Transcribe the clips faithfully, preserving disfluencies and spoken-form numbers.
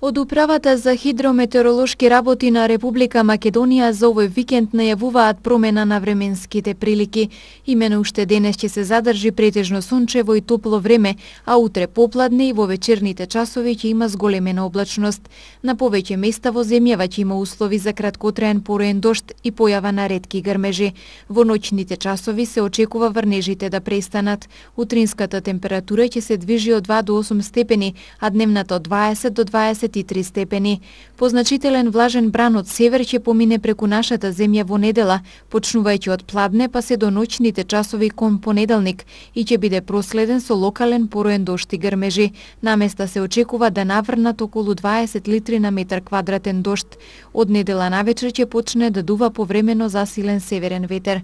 Од Управата за хидрометеоролошки работи на Република Македонија за овој викенд најавуваат промена на временските прилики. Имено уште денес ќе се задржи претежно сончево и топло време, а утре попладне и во вечерните часови ќе има зголемена облачност. На повеќе места во земјава ќе има услови за краткотраен пороен дожд и појава на ретки грмежи. Во ноќните часови се очекува врнежите да престанат. Утринската температура ќе се движи од два до осум степени, а дневната од дваесет до дваесет и три степени. Позначителен влажен бран од север ќе помине преку нашата земја во недела, почнувајќи од пладне па се до ноќните часови кон понеделник и ќе биде проследен со локален пороен дожд и грмежи. Наместа се очекува да наврнат околу дваесет литри на метар квадратен дожд. Од недела навечер ќе почне да дува повремено засилен северен ветер.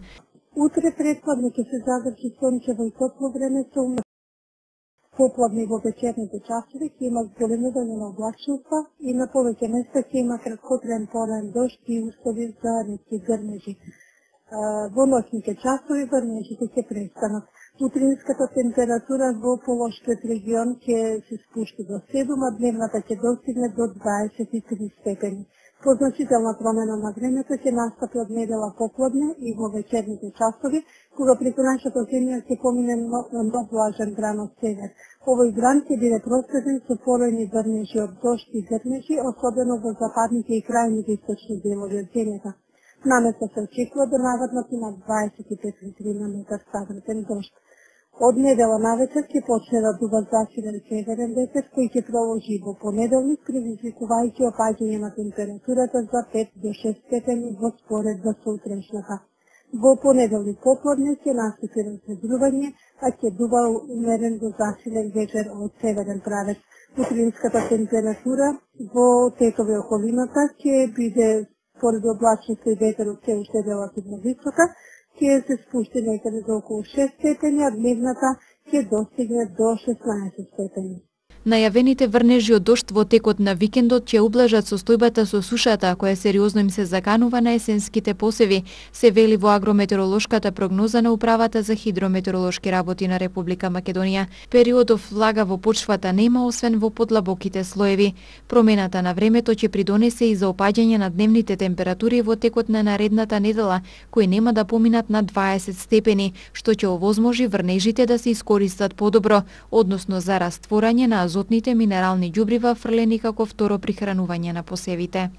Утре предпладне ќе се задржи сончево и топло време со попладне во вечерните часови ќе има зголемување на облачноста и на повеќе места ќе има краткотраен пороен дожд и услови за ретки грмежи. Во ноќните часови врнежите ќе престанат. Утринската температура во полошкиот регион ќе се спушти до седум, а дневната ќе достигне до дваесет и три степени. Позначителна промена на времето ќе настапи од недела попладне и во вечерните часови, кога преку нашата земја ќе помине нов влажен бран од север. Овој бран ќе биде проследен со поројни врнежи од дожд и грмежи, особено во западните и крајните источни делови од земјата. Наместа се очекува да наврнат и на дваесет и пет литри на метар квадратен дожд. Од недела навечер ќе почне да дува засилен северен ветер, кој ќе продолжи во понеделник, предизвикувајќи опаѓање на температурата за пет до шест степени во споредба со утрешната. Во понеделник попладне ќе настапи разветрување, а ќе дува умерен до засилен ветер од северен правец. Утринската температура во тетови околината ќе биде според облачноста и ветерот се уште релативно висока, ќе се спушти некаде до околу шест степени, а дневната ќе достигне до шеснаесет степени. Најавените врнежи од дожд во текот на викендот ќе ублажат состојбата со сушата, која сериозно им се заканува на есенските посеви, се вели во агрометеоролошката прогноза на Управата за хидрометеоролошки работи на Република Македонија. Периодов влага во почвата нема, освен во подлабоките слоеви. Промената на времето ќе придонесе и за опаѓање на дневните температури во текот на наредната недела, кои нема да поминат на дваесет степени, што ќе овозможи врнежите да се искористат подобро, односно за растворање на азотните минерални ѓубрива фрлени како второ прихранување на посевите.